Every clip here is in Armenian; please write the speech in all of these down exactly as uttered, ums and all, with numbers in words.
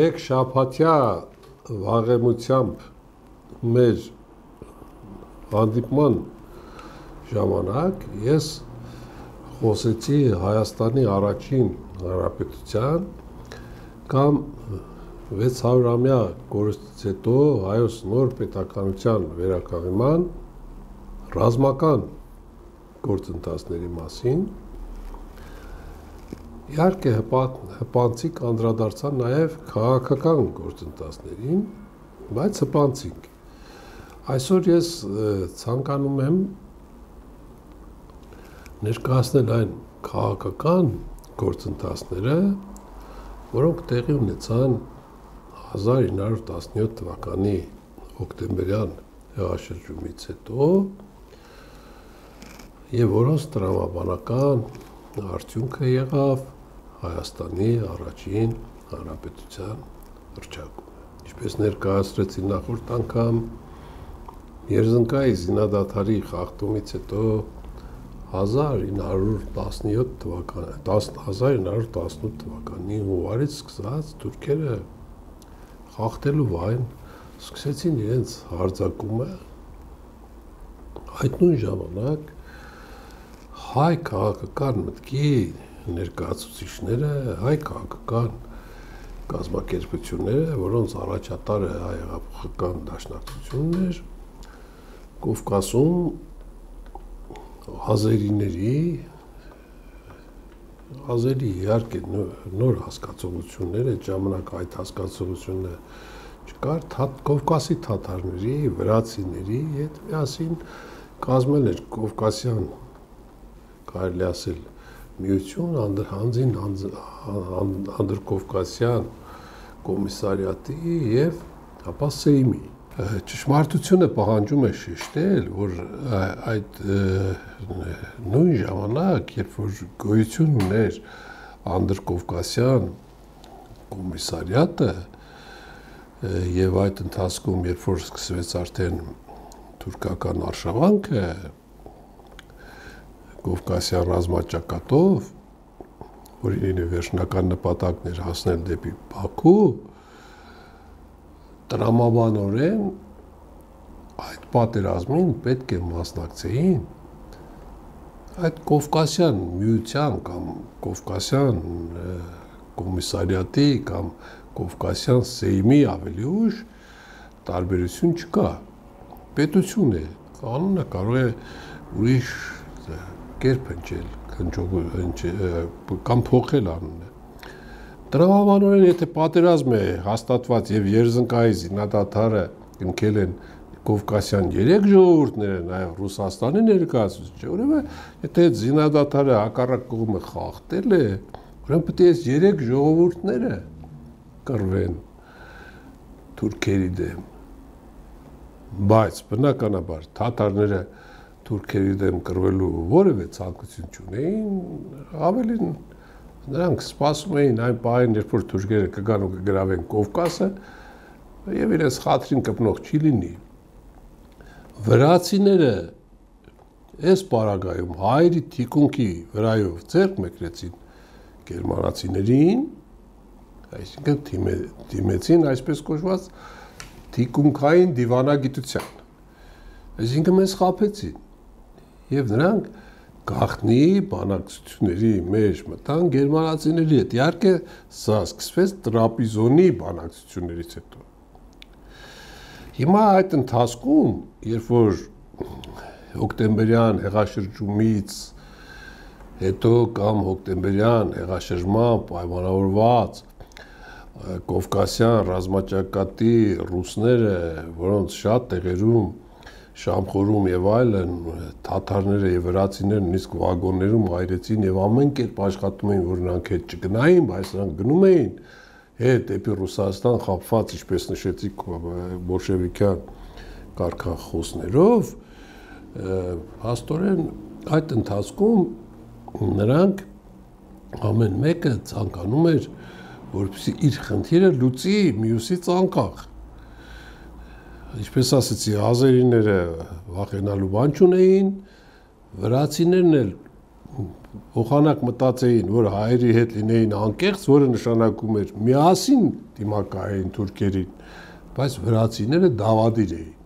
մեկ շաբաթյա վաղեմությամբ մեր հանդիպման ժամանակ ես խոսեցի Հայաստանի առաջին հանրապետության կամ վեց հարյուրամյա կորստից հետո հայոց նոր պետականության վերականգնման ռազմական գործընթացների մասին իհարկե հպանցիկ անդրադարձան նաև քաղաքական գործընթացներին, բայց հպանցիկ։ Այսօր ես ցանկանում եմ ներկայացնել այն քաղաքական գործընթացները, որոնք տեղի ունեցան հազար ինը հարյուր տասնյոթ թվականի հոկտեմբերյան հեղաշրջումից հետո եւ որոնց տրամաբանական արդյունքը եղավ Հայաստանի առաջին հանրապետության հռչակումը։ Ինչպես ներկայացրեցի նախորդ անգամ, Երզնկայի զինադադարի խախտումից հետո հազար ինը հարյուր տասնյոթ թվականի հունվարից սկսած թուրքերը խախտելու վայն սկսեցին իրենց հարձակումը, այդ նույն ժամանակ հայ քաղաքական մտքի ներկայացուցիչները, հայ քաղաքական կազմակերպությունները, որոնց առաջատարը հայ-հեղափոխական դաշնակցությունն էր, Կովկասում ազերիների, ազերի իհարկե նոր հասկացողություններ, այդ ժամանակ այդ հասկացողությունը չկար, Կովկասի թաթարների, վրացիների հետ միասին կազմել էր Կովկասյան, կարելի ասել, միություն հանձին անդրկովկասյան կոմիսարիատի և ապա Սեյմի։ Ճշմարտությունը պահանջում է շեշտել, որ այդ նույն ժամանակ, երբ որ գոյություն ուներ անդրկովկասյան կոմիսարիատը և այդ ընթացքում, երբ որ սկսվեց արդեն թուրքական արշավանքը Կովկասյան ռազմաճակատով, որի վերջնական նպատակն էր հասնել դեպի Բաքու, տրամաբանորեն այդ պատերազմին պետք է մասնակցեին այդ Կովկասյան միության կամ Կովկասյան կոմիսարիատի կամ Կովկասյան Սեյմի ավելի ուշ տարբերություն չկա, պետություն է, կանոնը կարող է ուրիշ կերպ հնչել կամ փոխել անունը։ Տրամաբանորեն, եթե պատերազմ է հաստատված եւ Երզնկայի զինադադարը ընկել են Կովկասյան երեք ժողովուրդները, նաեւ Ռուսաստանի ներկայացուցիչը, ուրեմն եթե այդ զինադադարը հակառակ կողմը խախտել է, ուրեմն պետք է այս երեք ժողովուրդները կռվեն թուրքերի դեմ։ Բայց բնականաբար թաթարները թուրքերի դեմ կռվելու որևէ ցանկություն չունեին, ավելին նրանք սպասում էին այն պահին, երբ որ թուրքերը կգան ու կգրավեն Կովկասը եւ իրենց խաթրին կպնող չի լինի։ Վրացիները այս պարագայում հայերի թիկունքի վրայով ձեռք մեկրեցին գերմանացիներին, այսինքն դիմեցին այսպես կոչված թիկունքային դիվանագիտության, այսինքն մեզ խաբեցին եւ նրանք գաղտնի բանակցությունների մեջ մտան գերմանացիների հետ, իհարկե սա սկսվեց Տրապիզոնի բանակցություններից հետո։ Հիմա այդ ընթացքում, երբ որ հոկտեմբերյան հեղաշրջումից հետո կամ հոկտեմբերյան հեղաշրջման պայմանավորված Կովկասյան ռազմաճակատի ռուսները, որոնց շատ տեղերում Շամխորում եւ այլն թաթարները եւ վրացիները նույնիսկ վագոններում այրեցին եւ ամեն կերպ աշխատում էին, որ նրանք հետ չգնային, բայց նրանք գնում էին հետ դեպի Ռուսաստան խաբված, ինչպես նշեցի, բոլշևիկյան կարգախոսներով, հաստորեն այդ ընթացքում նրանք ամեն մեկը ցանկանում էր, որպեսզի իր խնդիրը լուծի մյուսից անկախ։ Ինչպես ասեցի, ազերիները վախենալու բան չունեին, վրացիներն էլ փոխանակ մտածեին, որ հայերի հետ լինեին անկեղծ, որը նշանակում էր միասին դիմակայեին թուրքերին, բայց վրացիները դավադիր էին։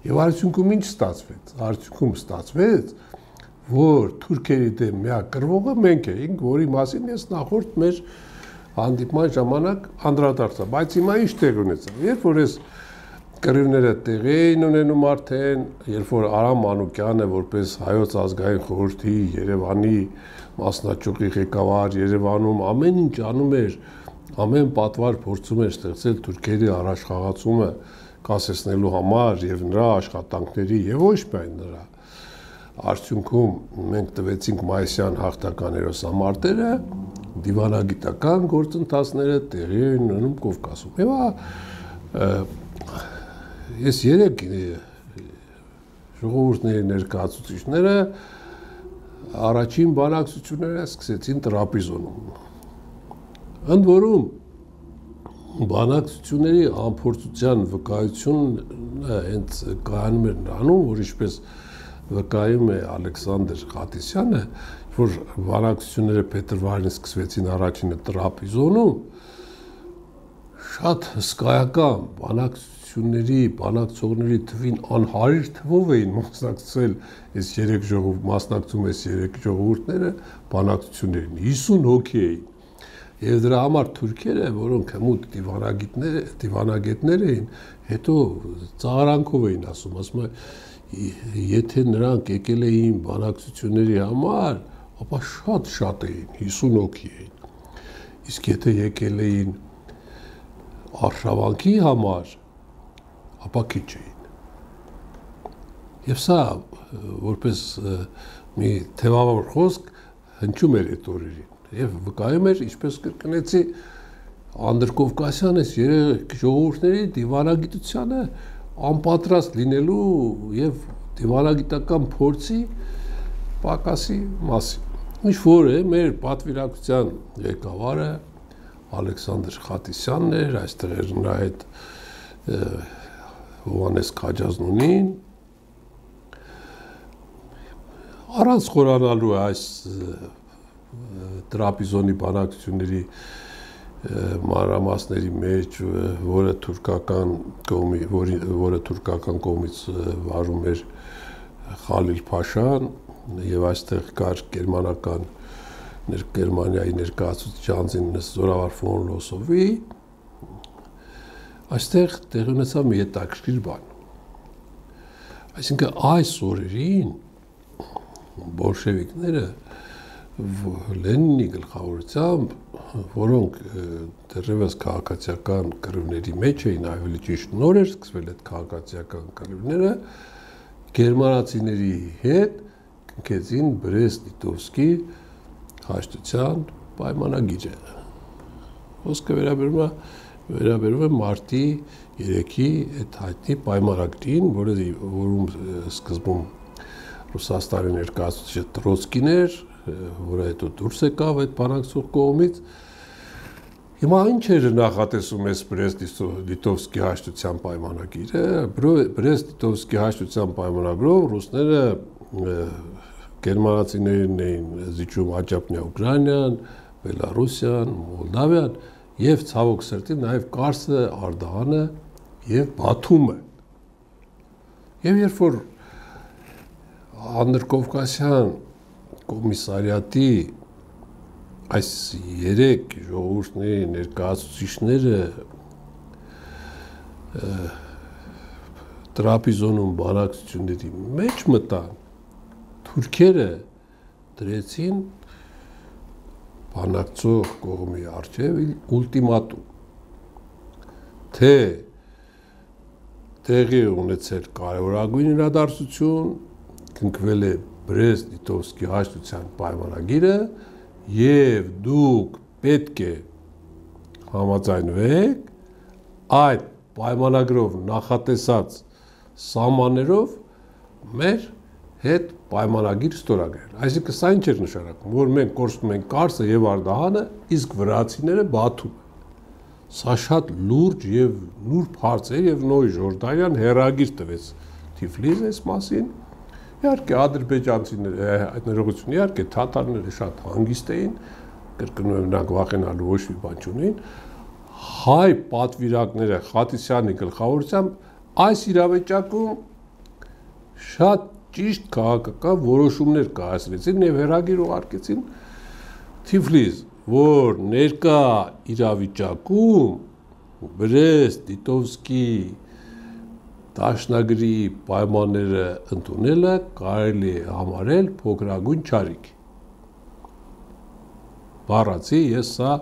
Եվ արդյունքում ինչ ստացվեց։ Արդյունքում ստացվեց, որ թուրքերի դեմ միակ կռվողը մենք էինք, որի մասին ես նախորդ մեր հանդիպման ժամանակ անդրադարձա, բայց հիմա ինչ տեղ ունեցավ։ Երբ որ ես կռիվները տեղի էին ունենում արդեն, երբ որ Արամ Մանուկյանը որպես Հայոց ազգային խորհրդի Երևանի մասնաճյուղի ղեկավար Երևանում ամեն ինչ անում էր, ամեն պատվար փորձում էր ստեղծել թուրքերի առաջխաղացումը կասեցնելու համար եւ նրա աշխատանքների եւ ոչ միայն նրա արդյունքում մենք տվեցինք մայիսյան հաղթական հերոսամարտերը, դիվանագիտական գործընթացները տեղի էին ունենում Կովկասում։ Եվ ես երեք ժողովուրդների ներկայացուցիչները առաջին բանակցությունները սկսեցին Տրապիզոնում։ Ընդ որում բանակցությունների անփորձության վկայությունը հենց կայանում էր նրանում, որ ինչպես վկայում է Ալեքսանդր Խատիսյանը, որ բանակցությունները փետրվարին սկսվեցին առաջինը Տրապիզոնում, շատ հսկայական բանակցությունների, բանակցողների թվին անհարիր թվով էին մասնակցել այս երեք ժողով, մասնակցում այս երեք ժողովուրդները բանակցություններին, հիսուն հոգի էին։ Եվ դրա համար թուրքերը, որոնք հմուտ դիվանագետներ, դիվանագետներ էին, հետո ծաղրանքով էին ասում, ասում եթե նրանք եկել էին բանակցությունների համար, ապա շատ-շատ էին, հիսուն հոգի էին։ Իսկ եթե եկել էին արշավանքի համար, ապա քիչ էին։ Եվ սա որպես մի թևավոր խոսք հնչում էր այդ օրերին եւ վկայում էր, ինչպես կրկնեցի, Անդրկովկասյան այս երեք ժողովուրդների դիվանագիտությանը անպատրաստ լինելու եւ դիվանագիտական փորձի պակասի մասին։ Ինչ որ է մեր պատվիրակության ղեկավարը Ալեքսանդր Խատիսյանն էր, այստեղ էր նրա հետ Հովհաննես Քաջազնունին, առանց խորանալու այս Տրապիզոնի բանակցությունների մանրամասների մեջ, որը թուրքական կողմի, որի, որը թուրքական կողմից վարում էր Խալիլ Փաշան եւ այստեղ կար գերմանական Գերմանիայի ներկայացուցիչ անձին Զորավար ֆոն Լոսովի, այստեղ տեղի ունեցավ մի հետաքրքիր բան։ Այսինքն այս օրերին բոլշևիկները Լենինի գլխավորությամբ, որոնք դեռևս քաղաքացիական կռիվների մեջ էին, ավելի ճիշտ նոր էր սկսվել այդ քաղաքացիական կռիվները, գերմանացիների հետ կնքեցին Բրեստ-Լիտովսկի հաշտության պայմանագիրը։ Խոսքը վերաբերում է վերաբերում է մարտի երեքի այդ հայտնի պայմանագրին, որը որում սկզբում Ռուսաստանի ներկայացուցիչը Տրոցկին էր, որը հետո դուրս եկավ այդ բանակցող կողմից։ Հիմա ինչ էր նախատեսում այս Բրեստ-Լիտովսկի հաշտության պայմանագիրը։ Բրեստ-Լիտովսկի հաշտության պայմանագրով ռուսները գերմանացիներին էին զիջում Աջափնյա Ուկրաինան, Բելարուսիան, Մոլդավիան եւ ցավոք սրտի նաեւ Կարսը, Արդահանը եւ Բաթումը։ Եվ երբ որ Անդրկովկասյան կոմիսարիատի այս երեք ժողովուրդների ներկայացուցիչները Տրապիզոնում բանակցությունների մեջ մտան, թուրքերը դրեցին բանակցող կողմի առջև ուլտիմատում, թե տեղի ունեցել կարևորագույն իրադարձություն, կնքվել է Բրեստ-Լիտովսկի հաշտության պայմանագիրը եւ դուք պետք է համաձայնվեք այդ պայմանագրով նախատեսած սահմաններով մեր հետ պայմանագիր ստորագրել։ Այսինքն սա ինչ էր նշանակում, որ մենք կորցնում ենք Կարսը եւ Արդահանը, իսկ վրացիները Բաթում։ Սա շատ լուրջ եւ նուրբ հարց է եւ Նոյ Ժորդանյան հերագիր տվեց Թիֆլիս այս մասին։ Իհարկե ադրբեջանցիները այդ ներողություն իհարկե թաթարները շատ հանգիստ էին, կրկնում եմ նրանք վախենալու ոչ մի բան չունեին, հայ պատվիրակները Խաթիսյանի գլխավորությամբ այս իրավիճակում շատ ճիշտ քաղաքական որոշումներ կայացրեցին եւ հերագիր ուղարկեցին Թիֆլիս, որ ներկա իրավիճակում Բրեստ, Տիտովսկի դաշնագրի պայմանները ընդունելը կարելի է համարել փոքրագույն չարիք։ Բառացի ես սա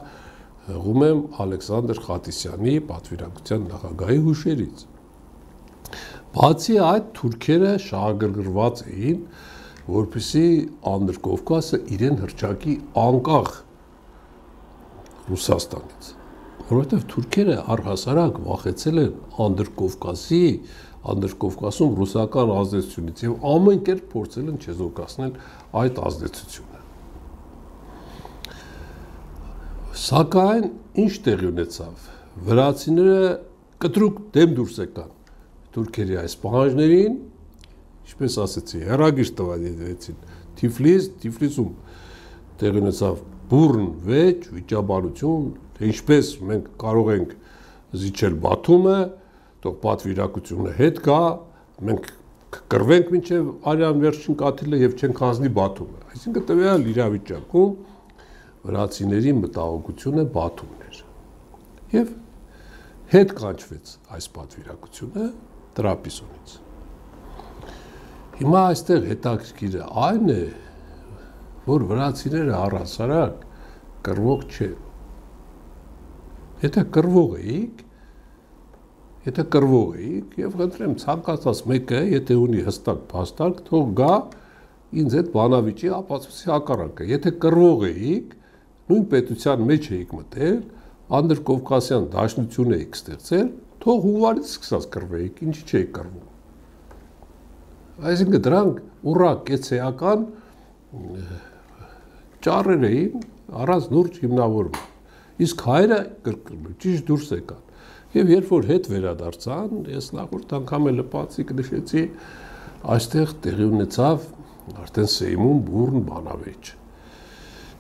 հղում եմ Ալեքսանդր Խաթիսյանի պատվիրակության նախագահի հուշերից։ Բացի այդ թուրքերը շահագրգռված էին, որպեսզի Անդրկովկասը իրեն հռչակի անկախ Ռուսաստանից, որովհետև թուրքերը առհասարակ վախեցել են Անդրկովկասի, Անդրկովկասում ռուսական ազդեցությունից եւ ամեն կերպ փորձել են չեզոքացնել այդ ազդեցությունը։ Սակայն ինչ տեղի ունեցավ։ Վրացիները կտրուկ դեմ դուրս եկան թուրքերի այս պահանջներին, ինչպես ասեցի, հեռագիր տվեցին Թիֆլիս, Թիֆլիսում տեղի ունեցավ բուռն վեճ, վիճաբանություն, թե ինչպես մենք կարող ենք զիջել Բաթումը, թող պատվիրակությունը հետ գա, մենք կռվենք մինչև արյան վերջին կաթիլը եւ չենք հանձնի Բաթումը։ Այսինքն տվյալ իրավիճակում վրացիների մտահոգությունը Բաթումն էր։ Եվ հետ կանչվեց այս պատվիրակությունը Տրապիզոնից։ Հիմա այստեղ հետաքրքիրը այն է, որ վրացիները առհասարակ կռվող չեն։ Եթե կռվող էիք, եթե կռվող էիք, եւ խնդրեմ ցանկացած մեկը, եթե ունի հստակ փաստարկ, թող գա ինձ հետ բանավիճի ապացուցի հակառակը։ Եթե կռվող էիք, նույն պետության մեջ էիք մտել, Անդրկովկասյան դաշնություն էիք ստեղծել, թող հունվարից սկսած կռվեիք, ինչի չէիք կռվում։ Այսինքն դրանք ուռա կեցեական ճառեր էին առանց լուրջ հիմնավորում։ Իսկ հայերը կրկնում ճիշտ դուրս եկան։ Եվ երբ որ հետ վերադարձան, ես նախորդ անգամ էլ լպացիկ նշեցի, այստեղ տեղի ունեցավ արդեն Սեյմում բուռն բանավեճ։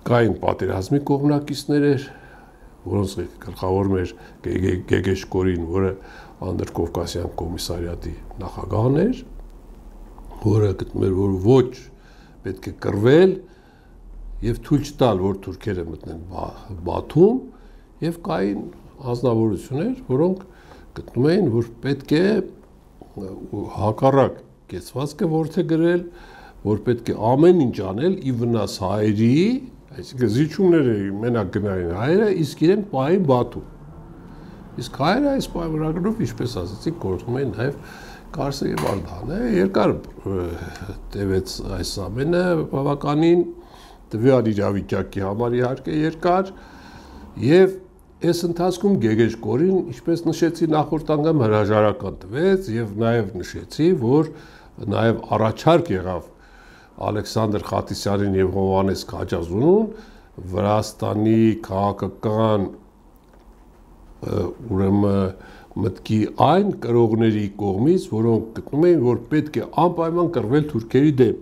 Կային պատերազմի կողմնակիցներ էր, որոնց գլխավորում էր Գեգեշկորին, որը Անդրկովկասյան կոմիսարիատի նախագահն էր, որը գտնում էր, որ ոչ պետք է կռվել եւ թույլ չտալ, որ թուրքերը մտնեն Բաթում, եւ կային անձնավորություններ, որոնք գտնում էին, որ պետք է հակառակ կեցվածքը որդեգրել, որ պետք է ամեն ինչ անել ի վնաս հայերի, այսինքն զիջումներ էին մենակ գնային հայերը, իսկ իրենք պահին Բաթում։ Իսկ հայերը այս պայմանագրով, ինչպես ասացի, գործում էին նաեւ Կարսը եւ Արդանը, երկար տևեց այս ամենը, բավականին տվյալ իրավիճակի համար իհարկե երկար, եւ այս ընթացքում Գեգեշկորին, ինչպես նշեցի նախորդ անգամ հրաժարական տվեց եւ նաեւ նշեցի, որ նաեւ առաջարկ եղավ Ալեքսանդր Խաթիսյանին եւ Հովհաննես Քաջազունուն Վրաստանի քաղաքական ուրեմն մտքի այն կրողների կողմից, որոնք գտնում էին, որ պետք է անպայման կռվել թուրքերի դեմ։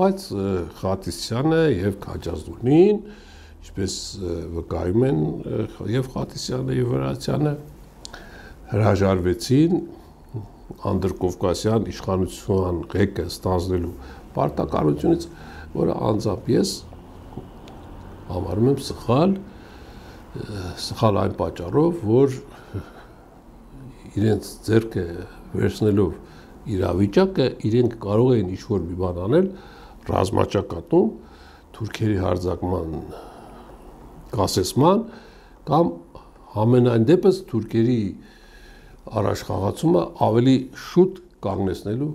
Բայց Խաթիսյանը եւ Քաջազունին, ինչպես վկայում են եւ Խաթիսյանը եւ Վրացյանը, հրաժարվեցին Անդրկովկասյան իշխանության ղեկը ստանձնելու պարտականությունից, որը անձամբ ես համարում եմ սխալ, սխալ այն պատճառով, որ իրենց ձեռքը վերցնելով իրավիճակը, իրենք կարող էին ինչ-որ մի բան անել ռազմաճակատում, թուրքերի հարձակման կասեցման կամ ամենայն դեպս թուրքերի առաջխաղացումը ավելի շուտ կանգնեցնելու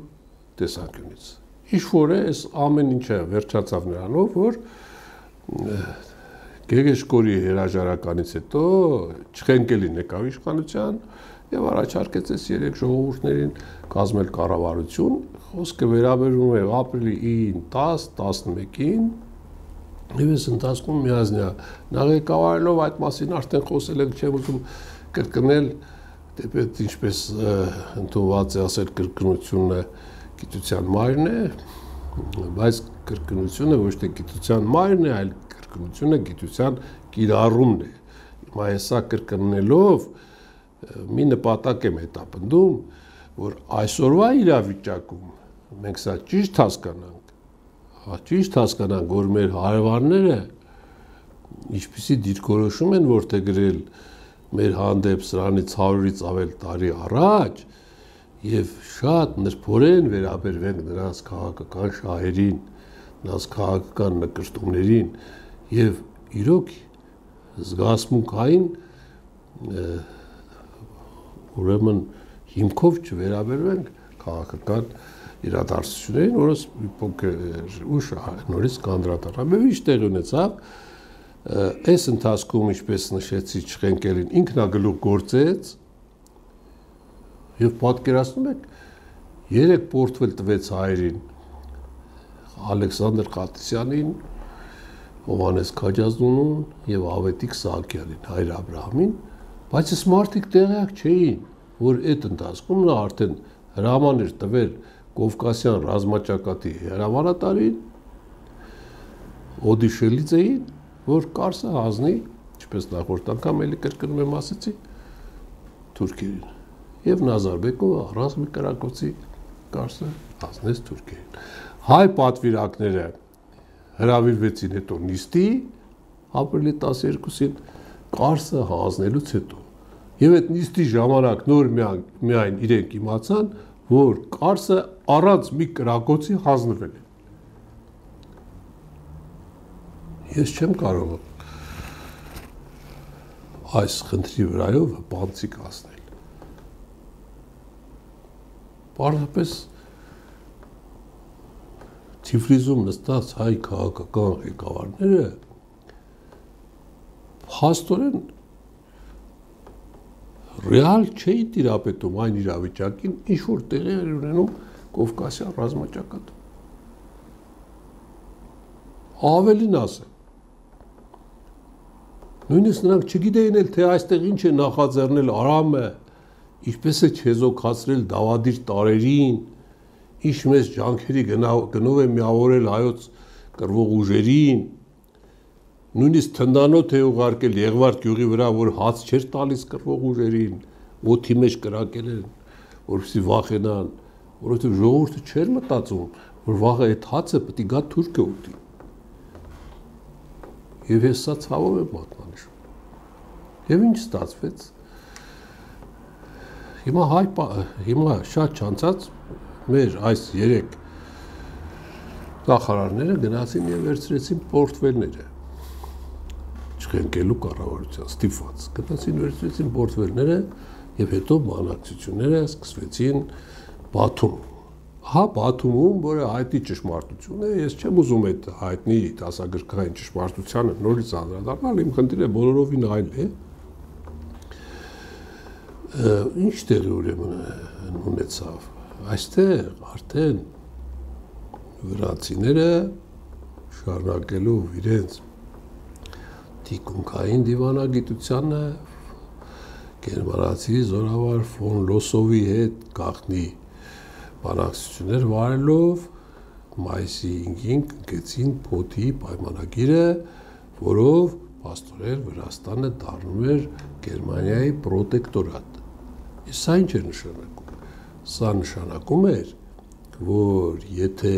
տեսանկյունից։ Ինչ-որ է, այս ամեն ինչը վերջացավ նրանով, որ Գեգեշկորի հրաժարականից հետո Չխենկելին եկավ իշխանության եւ առաջարկեց այս երեք ժողովուրդներին կազմել կառավարություն, խոսքը վերաբերում է ապրիլի տասը տասնմեկին, եւ այս ընթացքում միազնյա նախագահարելով այդ մասին արդեն խոսել ենք, չեմ ուզում կրկնել, դեպի ինչպես ընդունված է ասել կրկնությունը գիտության մայրն է, բայց կրկնությունը ոչ թե գիտության մայրն է, այլ կրկնությունը գիտության կիրառումն է։ Հիմա հեսա կրկնելով մի նպատակ եմ հետապնդում, որ այսօրվա իրավիճակում մենք սա ճիշտ հասկանանք, ճիշտ հասկանանք, որ մեր հարևանները ինչպիսի դիրքորոշում են որտեղ գրել մեր հանդեպ սրանից հարյուրից ավել տարի առաջ եւ շատ նրբորեն վերաբերվենք նրանց քաղաքական շահերին, նրանց քաղաքական նկրտումներին եւ իրոք զգացմունքային ուրեմն հիմքով չվերաբերվենք քաղաքական իրադարձություններին, որոնց մի փոքր ուշ նորից կանդրադառնամ։ Ինչ տեղ ունեցավ այս ընթացքում, ինչպես նշեցի, Չխենկելին ինքնագլուխ գործեց եւ պատկերացնում եք երեք պորտֆել տվեց հայերին Ալեքսանդր Խատիսյանին, Հովհաննես Քաջազնունուն եւ Ավետիք Սահակյանին, Հայր Աբրահամին, բայց այս մարդիկ տեղյակ չէին, որ այդ ընթացքում նա արդեն հրաման էր տվել Կովկասյան ռազմաճակատի հրամանատարին Օդիշելիձեին, որ Կարսը հանձնի, ինչպես նախորդ անգամ էլի կրկնում եմ ասեցի, թուրքերին։ Եվ Նազարբեկովը առանց մի կրակոցի Կարսը հանձնեց թուրքերին։ Հայ պատվիրակները հրավիրվեցին հետո նիստի, ապրիլի տասներկուսին, Կարսը հանձնելուց հետո։ Եվ այդ նիստի ժամանակ նոր միայն իրենք իմացան, որ Կարսը առանց մի կրակոցի հանձնվել է։ Ես չեմ կարող այս խնդրի վրայով բանցիկ ասնել։ Պարզապես Թիֆլիսում նստած հայ քաղաքական ղեկավարները փաստորեն ռեալ չէի տիրապետում այն իրավիճակին, ինչ որ տեղի էր ունենում Կովկասյան ռազմաճակատում։ Ավելին ասեմ, նույնիսկ նրանք չգիտեին էլ, թե այստեղ ինչ է նախաձեռնել Արամը, ինչպես է չեզոքացրել դավադիր տարերին, ինչ մեծ ջանքերի գնով է միավորել հայոց կռվող ուժերին, նույնիսկ թնդանոթ է ուղարկել Եղվարդ գյուղի վրա, որ հաց չէր տալիս կռվող ուժերին, օդի մեջ կրակել են, որպեսզի վախենան, որովհետև ժողովուրդը չէր մտածում, որ վաղը այդ հացը պետք է գա թուրքը ուտի։ Եվ ես սա ցավով եմ մատնանշում։ Եվ ինչ ստացվեց։ Հիմա հայ հիմա շատ չանցած մեր այս երեք նախարարները գնացին եւ վերցրեցին պորտֆելները։ Չխենկելու կառավարության ստիպված գնացին վերցրեցին պորտֆելները եւ հետո բանակցությունները սկսվեցին Բաթում։ Հա Բաթումում, որը հայտնի ճշմարտություն է, ես չեմ ուզում այդ հայտնի դասագրքային ճշմարտությանը նորից անդրադառնալ, իմ խնդիրը բոլորովին այլ է։ Ինչ տեղի ուրեմն ունեցավ։ Այստեղ արդեն վրացիները շարունակելով իրենց թիկունքային դիվանագիտությանը գերմանացի զորավար ֆոն Լոսովի հետ գաղտնի բանակցություններ վարելով մայիսի հինգին կնքեցին Փոթի պայմանագիրը, որով փաստորեն Վրաստանը դառնում էր Գերմանիայի պրոտեկտորատ։ Իսկ սա ինչ է նշանակում։ Սա նշանակում էր, որ եթե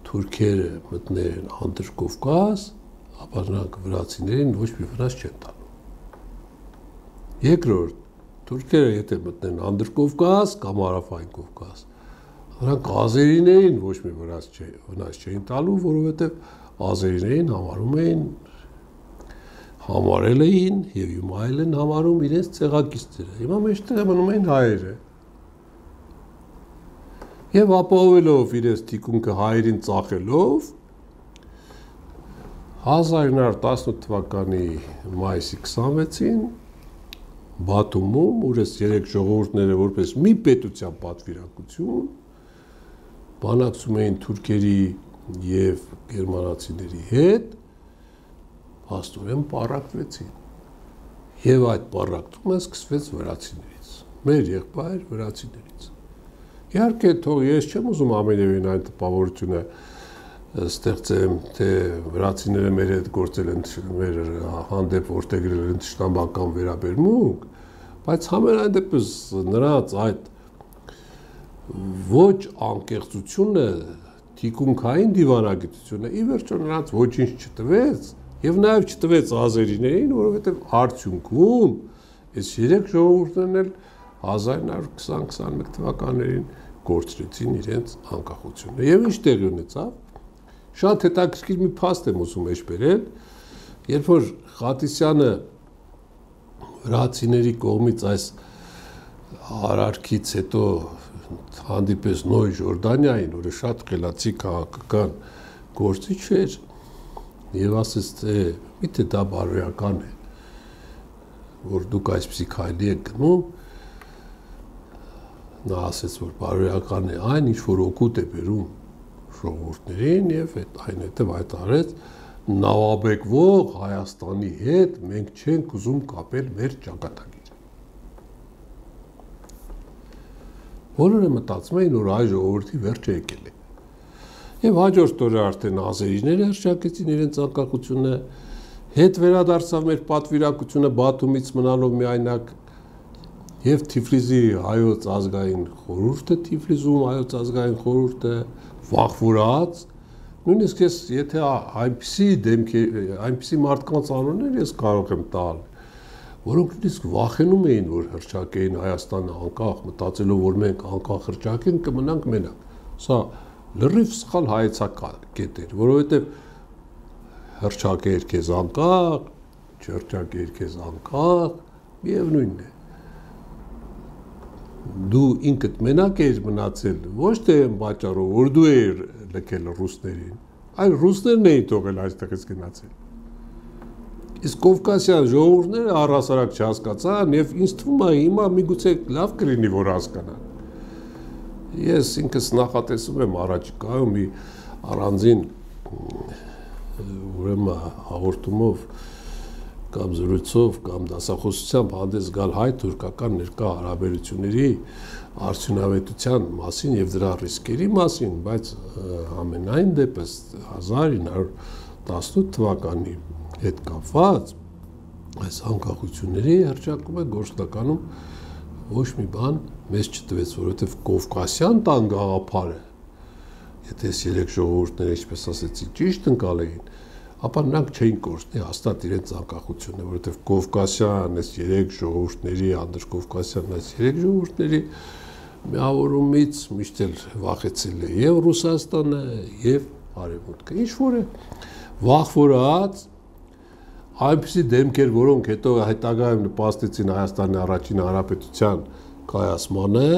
թուրքերը մտնեն Անդրկովկաս, ապա նրանք վրացիներին ոչ մի վնաս չեն տալու։ Երկրորդ, թուրքերը եթե մտնեն Անդրկովկաս կամ Հարավային Կովկաս, նրանք ազերիներին ոչ մի վնաս չէին տալու, որովհետև ազերիներին համարում էին, համարել էին եւ հիմա էլ են համարում իրենց ցեղակիցները։ Հիմա մեջտեղը մնում են հայերը։ Եվ ապահովելով իրենց թիկունքը հայերին ծախելով հազար ինը հարյուր տասնութ թվականի մայիսի քսանվեցին Բաթումում, ուր այս երեք ժողովուրդները որպես մի պետության պատվիրակություն բանակցում էին թուրքերի եւ գերմանացիների հետ, փաստորեն պառակտվեցին։ Եվ այդ պառակտումը սկսվեց վրացիներից, մեր եղբայր վրացիներից։ Իհարկե, թող ես չեմ ուզում ամենևին այն տպավորությունը ստեղծեմ, թե վրացիները մեր հետ գործել են մեր հանդեպ որտեղել են թշնամական վերաբերմունք, բայց համենայն դեպս նրանց այդ ոչ անկեղծությունը, թիկունքային դիվանագիտությունը ի վերջո նրանց ոչինչ չտվեց եւ նաեւ չտվեց ազերիներին, որովհետեւ արդյունքում այս երեք ժողովուրդներն էլ հազար նոր քսան քսանմեկ թվականներին գործրեցին իրենց անկախությունը։ Եվ ինչ տեղի ունեցավ։ Շատ հետաքրքիր մի փաստ եմ ուզում էջ բերել, երբ որ Խատիսյանը վրացիների կողմից այս արարքից հետո հանդիպես Նոյ Ժորդանիային, որը շատ խելացի քաղաքական գործիչ էր, եւ ասեց, թե միթե դա բարոյական է, որ դուք այսպիսի քայլի եք գնում, նա ասեց, որ բարոյական է այն, ինչ որ օգուտ է բերում ժողովուրդներին եւ այն հետեւ հայտարարեց նավաբեկվող Հայաստանի հետ մենք չենք ուզում կապել մեր ճակատագիրը։ Բոլորը մտածում էին, որ այ ժողովրդի վերջը եկել է։ Եվ հաջորդ օրը արդեն ազերիները հռչակեցին իրենց անկախությունը, հետ վերադարձավ մեր պատվիրակությունը Բաթումից մնալով միայնակ եւ Թիֆլիսի հայոց ազգային խորհուրդը, Թիֆլիսում հայոց ազգային խորհուրդը վախվորած, նույնիսկ ես եթե այնպիսի դեմքեր, այնպիսի մարդկանց անուններ ես կարող եմ տալ, որոնք նույնիսկ վախենում էին, որ հռչակեին Հայաստանը անկախ, մտածելով, որ մենք անկախ հռչակենք, կմնանք մենակ։ Սա լրիվ սխալ հայեցակետ էր, որովհետև հռչակեր քեզ անկախ, չհռչակեր քեզ անկախ, միևնույնն է։ Դու ինքդ մենակ ես մնացել, ոչ թե այն պատճառով, որ դու ես լքել ռուսներին, այլ ռուսներն էին թողել այստեղից գնացել։ Իսկ Կովկասյան ժողովուրդները առհասարակ չհասկացան եւ ինձ թվում է հիմա միգուցե լավ կլինի, որ հասկանան։ Ես ինքս նախատեսում եմ առաջիկայում մի առանձին ուրեմն հաղորդումով կամ զրույցով կամ դասախոսությամբ հանդես գալ հայ-թուրքական ներկա հարաբերությունների արդյունավետության մասին եւ դրա ռիսկերի մասին, բայց ամենայն դեպս հազար ինը հարյուր տասնութ թվականի հետ կապված այս անկախությունների հռչակումը գործնականում ոչ մի բան մեզ չտվեց, որովհետեւ Կովկասյան տան գաղափարը, եթե այս երեք ժողովուրդները, ինչպես ասեցի, ճիշտ ընկալեին, ապա նրանք չէին կորցնի հաստատ իրենց անկախությունը, որովհետև Կովկասյան այս երեք ժողովուրդների, անդրկովկասյան այս երեք ժողովուրդների միավորումից միշտ էլ վախեցել է եւ Ռուսաստանը եւ Արևմուտքը։ Ինչ որ է վախվորած այնպիսի դեմքեր, որոնք հետո հետագայում նպաստեցին Հայաստանի առաջին հանրապետության կայացմանը,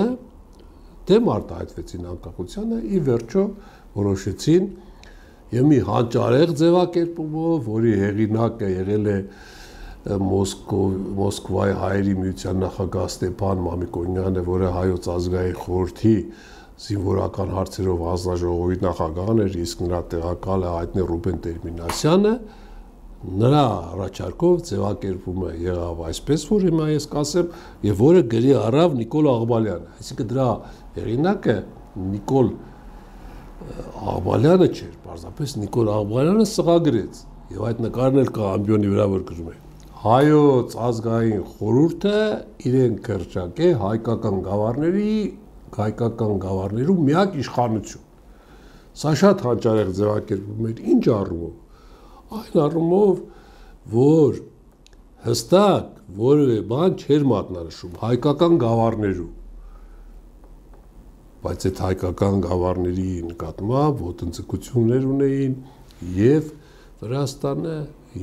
դեմ արտահայտվեցին անկախությանը, ի վերջո որոշեցին եւ մի հանճարեղ ձևակերպումով, որի հեղինակը եղել է Մոսկվայի հայերի միության նախագահ Ստեփան Մամիկոնյանը, որը հայոց ազգային խորհրդի զինվորական հարցերով հանձնաժողովի նախագահն էր, իսկ նրա տեղակալը հայտնի Ռուբեն Տերմինասյանը, նրա առաջարկով ձևակերպումը եղավ այսպես, որ հիմա ես կասեմ, եւ որը գրի առավ Նիկոլ Աղբալյանը, այսինքն դրա հեղինակը Նիկոլ Աղբալյանը չէր, պարզապես Նիկոլ Աղբալյանը սղագրեց եւ այդ նկարն էլ կա ամբիոնի վրա, որ գրում է հայոց ազգային խորհուրդը իրեն կրճակե հայկական գավառների, հայկական գավառներու միակ իշխանություն։ Սա շատ հանճարեղ ձևակերպում էր, ինչ առումով։ Այն առումով, որ հստակ որևէ բան չէր մատնանշում հայկական գավառներու, բայց այդ հայկական գավառների նկատմամբ ոտնձգություններ ունեին եւ Վրաստանը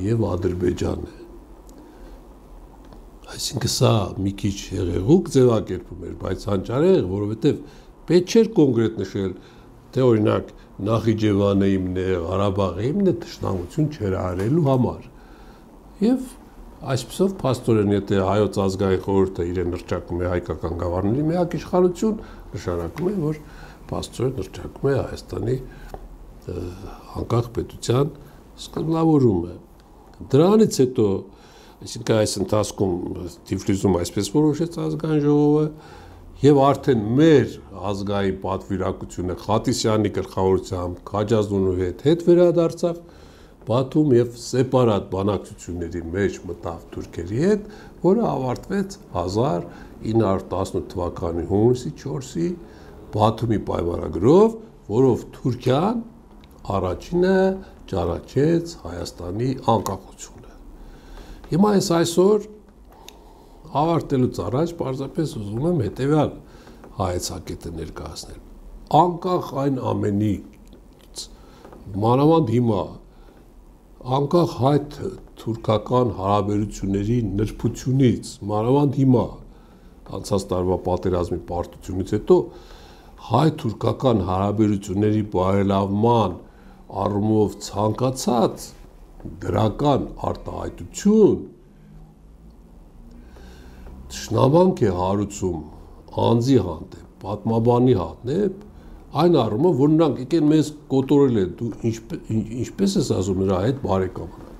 եւ Ադրբեջանը։ Այսինքն սա մի քիչ հեղեղուկ ձևակերպում էր, բայց հանճարեղ, որովհետեւ պետք չէր կոնկրետ նշել, թե օրինակ Նախիջևանը իմն է, Ղարաբաղը իմն է, թշնամություն չէր արելու համար։ Եվ այսպեսով փաստորեն, եթե հայոց ազգային խորհուրդը իրեն հռչակում է հայկական գավառների միակ իշխանություն, նշանակում է, որ փաստորեն հռչակում է Հայաստանի անկախ պետության սկզբնավորումը։ Դրանից հետո, այսինքն այս ընթացքում Թիֆլիսում այսպես որոշեց ազգային ժողովը, Եվ արդեն մեր ազգային պատվիրակությունը Խատիսյանի գլխավորությամբ Քաջազնունու հետ հետ վերադարձավ Բաթում եւ սեպարատ բանակցությունների մեջ մտավ թուրքերի հետ, որը ավարտվեց հազար ինը հարյուր տասնութ թվականի հունիսի չորսի Բաթումի պայմանագրով, որով Թուրքիան առաջինը ճանաչեց Հայաստանի անկախությունը։ Հիմա ես այսօր ավարտելուց առաջ պարզապես ուզում եմ հետևյալ հայեցակետը ներկայացնել։ Անկախ այն ամենից, մանավանդ հիմա, անկախ հայ-թուրքական հարաբերությունների նրբությունից, մանավանդ հիմա, անցած տարվա պատերազմի պարտությունից հետո, հայ-թուրքական հարաբերությունների բարելավման առումով ցանկացած դրական արտահայտություն Շնամանք է հարուցում անձի հանդեպ, պատմաբանի հանդեպ, այն առումով, որ նրանք եկեն մեզ կոտորել են, դու ինչպես ես ասում նրա հետ բարեկամանալ,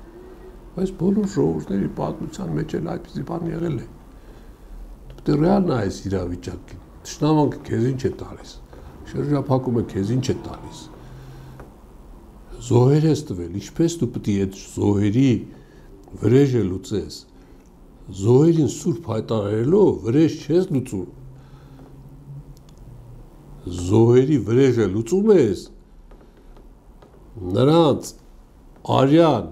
բայց բոլոր ժողովուրդների պատմության մեջ էլ այդպիսի բան եղել է, դու պետք է ռեալ նայես իրավիճակին, շնամանքը քեզ ինչ է տալիս, շրջափակումը քեզ ինչ է տալիս, զոհեր ես տվել, ինչպես դու պետք է այդ զոհերի վրեժը լուծես, Զոհերին սուրբ հայտարարելով վրեժ չես լուծում, զոհերի վրեժը լուծում ես, նրանց արյան,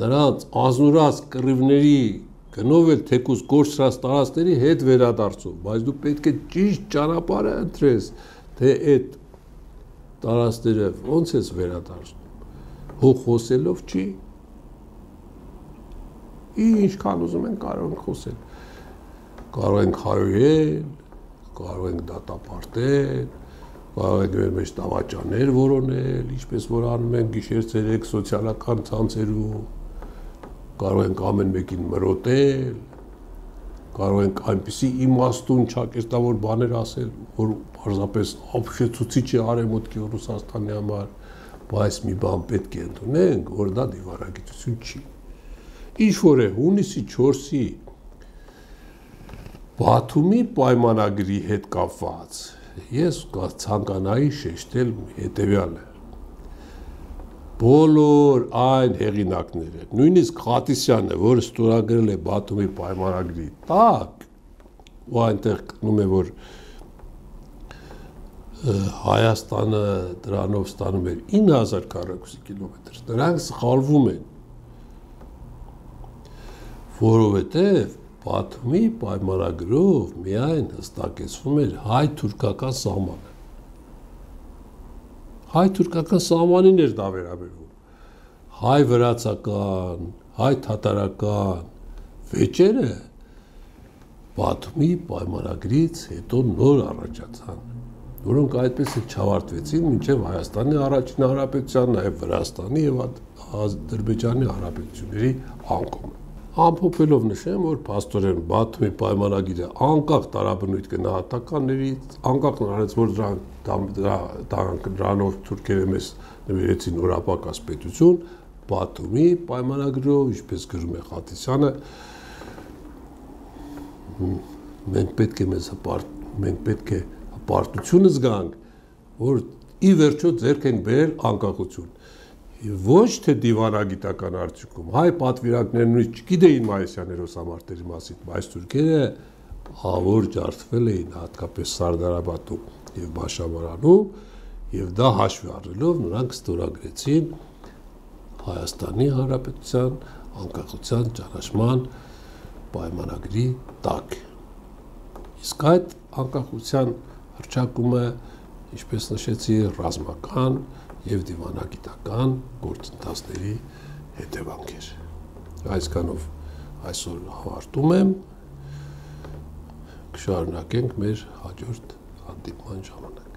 նրանց ազնուրած կռիվների գնով էլ թեկուզ կորցրած տարածքների հետ վերադարձում, բայց դու պետք է ճիշտ ճանապարհը ընտրես, թե այդ տարածքները ոնց ես վերադարձնում, հող խոսելով չի, ինչքան ուզում են կարող ենք խոսել, կարող ենք հայոյել, կարող ենք դատապարտել, կարող ենք մեր մեջ տավաճաներ որոնել, ինչպես որ անում են գիշեր-ցերեկ սոցիալական ցանցերում, կարող ենք ամեն մեկին մրոտել, կարող ենք այնպիսի իմաստուն ճակերտավոր բաներ ասել, որ պարզապես ապշեցուցիչ է արևմուտքի ու Ռուսաստանի համար, բայց մի բան պետք է ընդունենք, որ դա դիվանագիտություն չի։ Ինչ որ է հունիսի չորսի Բաթումի պայմանագրի հետ կապված, ես ցանկանայի շեշտել հետևյալը։ Բոլոր այն հեղինակները, նույնիսկ Խատիսյանը, որը ստորագրել է Բաթումի պայմանագրի տակ, ու այնտեղ գտնում է, որ Հայաստանը դրանով ստանում էր ինը հազար քառակուսի կիլոմետր, նրանք սխալվում են, որովհետև Բաթումի պայմանագրով միայն հստակեցվում էր հայ-թուրքական սահմանը։ Հայ-թուրքական սահմանին էր դա վերաբերվում։ Հայ-վրացական, հայ-թաթարական վեճերը Բաթումի պայմանագրից հետո նոր առաջացան, որոնք այդպես էլ չավարտվեցին մինչև Հայաստանի առաջին հանրապետության, նաև Վրաստանի և Ադրբեջանի հանրապետությունների անկումը։ Ամփոփելով նշեմ, որ փաստորեն Բաթումի պայմանագիրը անկախ տարաբնույթ գնահատականներից, անկախ նրանից, որ դրանով թուրքերը մեզ նվիրեցին օրապակաս պետություն, Բաթումի պայմանագրով, ինչպես գրում է Խատիսյանը, մենք պետք է մեզ հպարտ, մենք պետք է հպարտությունը զգանք, որ ի վերջո ձեռք ենք բերել անկախություն։ Ոչ թե դիվանագիտական արդյունքում, հայ պատվիրակներն նույնիսկ չգիտեին Մայիսյան հերոսամարտերի մասին, բայց թուրքերը ավոր ջարդվել էին հատկապես Սարդարաբադում եւ Բաշավարանում, եւ դա հաշվի առնելով նրանք ստորագրեցին Հայաստանի Հանրապետության անկախության ճանաչման պայմանագրի տակ։ Իսկ այդ անկախության հռչակումը, ինչպես նշեցի, ռազմական և դիվանագիտական գործընթացների հետևանք էր։ Այսքանով այսօր ավարտում եմ, կշարունակենք մեր հաջորդ հանդիպման ժամանակ։